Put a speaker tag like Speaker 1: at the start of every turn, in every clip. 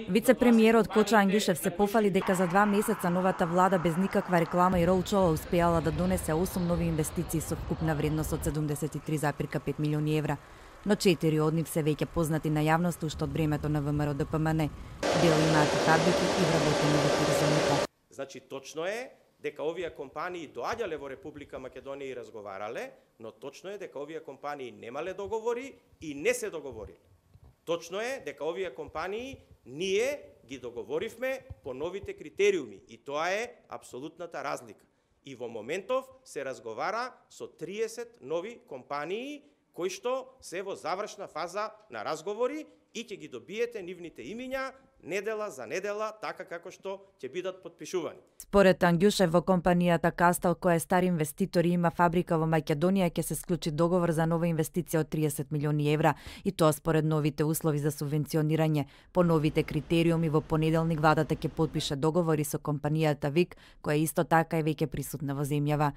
Speaker 1: Вице-премиерот Кочо Ангјушев се пофали дека за 2 месеца новата влада без никаква реклама и роучоу успеала да донесе 8 нови инвестиции со вкупна вредност од 73,5 милиони евра. Но 4 од нив се веќе познати на јавноста уште од времето на ВМРО ДПМН. Дел имаат и фабрики и вработени во туризмот.
Speaker 2: Значи точно е дека овие компании доаѓале во Република Македонија и разговарале, но точно е дека овие компании немале договори и не се договориле. Точно е дека овие компании ние ги договоривме по новите критериуми и тоа е апсолутната разлика. И во моментов се разговара со 30 нови компании кои што се во завршна фаза на разговори и ќе ги добиете нивните имиња недела за недела, така како што ќе бидат потпишувани.
Speaker 1: Според Ангјушев, во компанијата Кастел, која е стар инвеститор и има фабрика во Македонија, ќе се склучи договор за нова инвестиција од 30 милиони евра, и тоа според новите услови за субвенционирање. По новите критериуми, во понеделник владата ќе потпише договори со компанијата ВИК, која исто така е веќе присутна во земјава.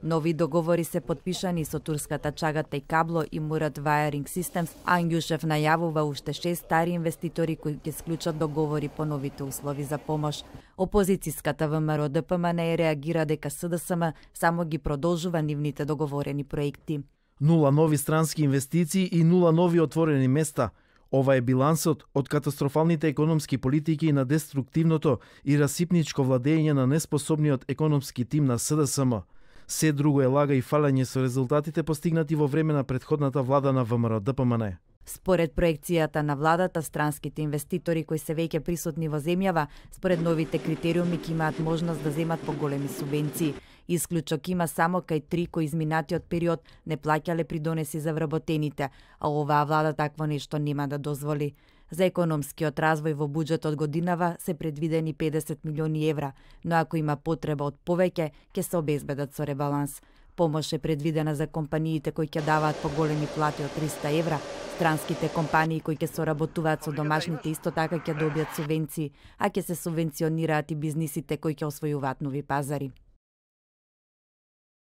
Speaker 1: Нови договори се потпишани со турската Чагата и Кабло и Мурат Wiring Systems. Ангјушев најавува уште 6 стари инвеститори кои ќе склучат договори по новите услови за помош. Опозицијската ВМРО ДПМН реагира дека СДСМ само ги продолжува нивните договорени проекти.
Speaker 3: 0 нови странски инвестиции и 0 нови отворени места. Ова е билансот од катастрофалните економски политики на деструктивното и расипничко владење на неспособниот економски тим на СДСМ. Се друго е лага и фалење со резултатите постигнати во време на претходната влада на ВМРО ДПМН.
Speaker 1: Според проекцијата на владата, странските инвеститори кои се веќе присутни во земјава, според новите критериуми ќе имаат можност да земат поголеми субвенции. Исклучок има само кај 3 кои изминатиот период не плаќале придонеси за вработените, а оваа влада такво нешто нема да дозволи. За економскиот развој во буџетот годинава се предвидени 50 милиони евра, но ако има потреба од повеќе, ќе се обезбедат со ребаланс. Помош е предвидена за компаниите кои ќе даваат поголеми плати од 300 евра, странските компании кои ќе соработуваат со домашните исто така ќе добијат субвенции, а ќе се субвенционираат и бизнисите кои ќе освојуваат нови пазари.